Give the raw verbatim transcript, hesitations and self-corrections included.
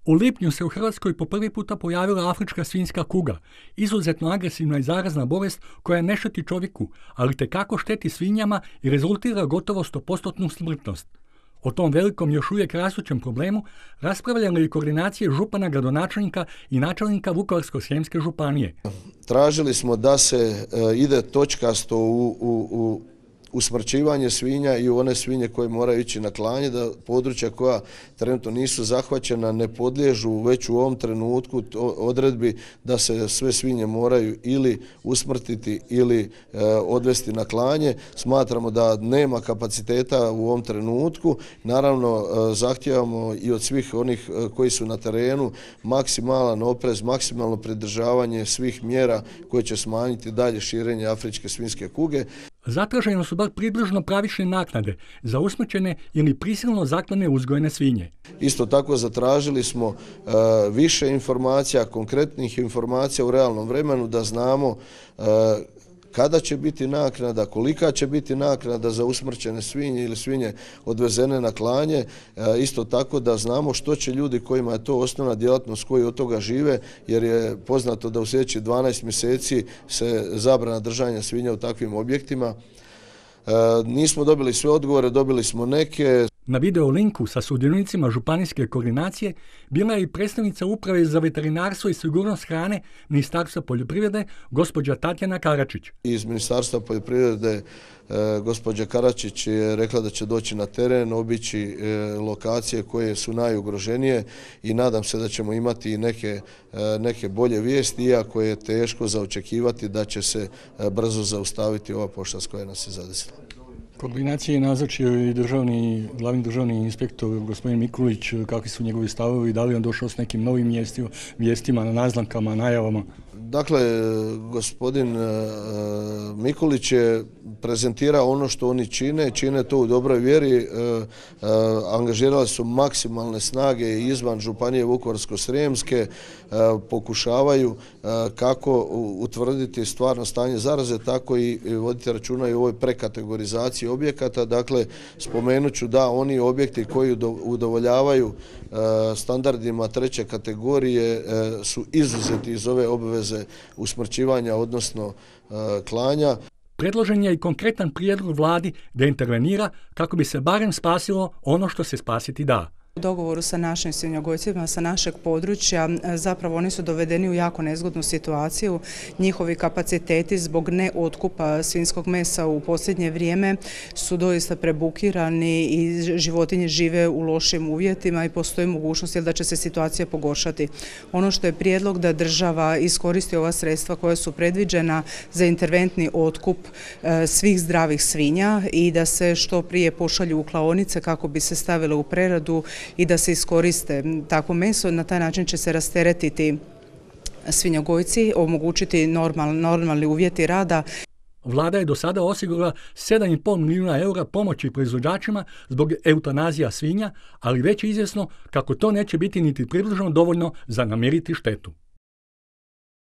U lipnju se u Hrvatskoj po prvi puta pojavila afrička svinjska kuga, izuzetno agresivna i zarazna bolest koja ne šteti čovjeku, ali tekako šteti svinjama i rezultira gotovo sto posto smrtnost. O tom velikom još uvijek rastućem problemu raspravljali i koordinacije župana, gradonačelnika i načelnika Vukovarsko-srijemske županije. Tražili smo da se e, ide točkasto u, u, u usmrćivanje svinja i one svinje koje moraju ići na klanje, da područja koja trenutno nisu zahvaćena ne podliježu već u ovom trenutku odredbi da se sve svinje moraju ili usmrtiti ili e, odvesti na klanje. Smatramo da nema kapaciteta u ovom trenutku. Naravno, e, zahtijevamo i od svih onih e, koji su na terenu maksimalan oprez, maksimalno pridržavanje svih mjera koje će smanjiti dalje širenje afričke svinjske kuge. Zatraženo su bar približno pravične naknade za usmrćene ili prisilno zaklane uzgojene svinje. Isto tako zatražili smo e, više informacija, konkretnih informacija u realnom vremenu da znamo e, kada će biti naknada, kolika će biti naknada za usmrćene svinje ili svinje odvezene na klanje, isto tako da znamo što će ljudi kojima je to osnovna djelatnost koji od toga žive, jer je poznato da u sljedećih dvanaest mjeseci se zabrana držanja svinja u takvim objektima. Nismo dobili sve odgovore, dobili smo neke. Na video linku sa sudionicima županijske koordinacije bila je i predstavnica Uprave za veterinarstvo i sigurnost hrane Ministarstva poljoprivrede, gospođa Tatjana Karačić. Iz Ministarstva poljoprivrede e, gospođa Karačić je rekla da će doći na teren, obići e, lokacije koje su najugroženije i nadam se da ćemo imati neke, e, neke bolje vijesti, iako je teško za očekivati da će se e, brzo zaustaviti ova pošast koja nas je zadesila. Koordinacije je nazočio i državni, glavni državni inspektor gospodin Mikulić. Kakvi su njegovi stavovi, da li on došao s nekim novim vijestima, vijestima, naznankama, najavama? Dakle, gospodin Mikulić je prezentirao ono što oni čine, čine to u dobroj vjeri, angažirali su maksimalne snage izvan županije Vukovarsko-srijemske, pokušavaju kako utvrditi stvarno stanje zaraze, tako i voditi računa i o ovoj prekategorizaciji objekata. Dakle, spomenut ću da oni objekti koji udovoljavaju standardima treće kategorije su izuzeti iz ove obveze usmrćivanja, odnosno klanja. Predložen je i konkretan prijedlog vladi da intervenira kako bi se barem spasilo ono što se spasiti da. U dogovoru sa našim svinjogojcima sa našeg područja zapravo oni su dovedeni u jako nezgodnu situaciju. Njihovi kapaciteti zbog neotkupa svinjskog mesa u posljednje vrijeme su doista prebukirani i životinje žive u lošim uvjetima i postoji mogućnost da će se situacija pogoršati. Ono što je prijedlog da država iskoristi ova sredstva koja su predviđena za interventni otkup svih zdravih svinja i da se što prije pošalju u klaonice kako bi se stavile u preradu i da se iskoriste takvo meso. Na taj način će se rasteretiti svinjogojci, omogućiti normal, normalni uvjeti rada. Vlada je do sada osigurala sedam i pol milijuna eura pomoći proizvođačima zbog eutanazija svinja, ali već je izvjesno kako to neće biti niti približno dovoljno za namiriti štetu.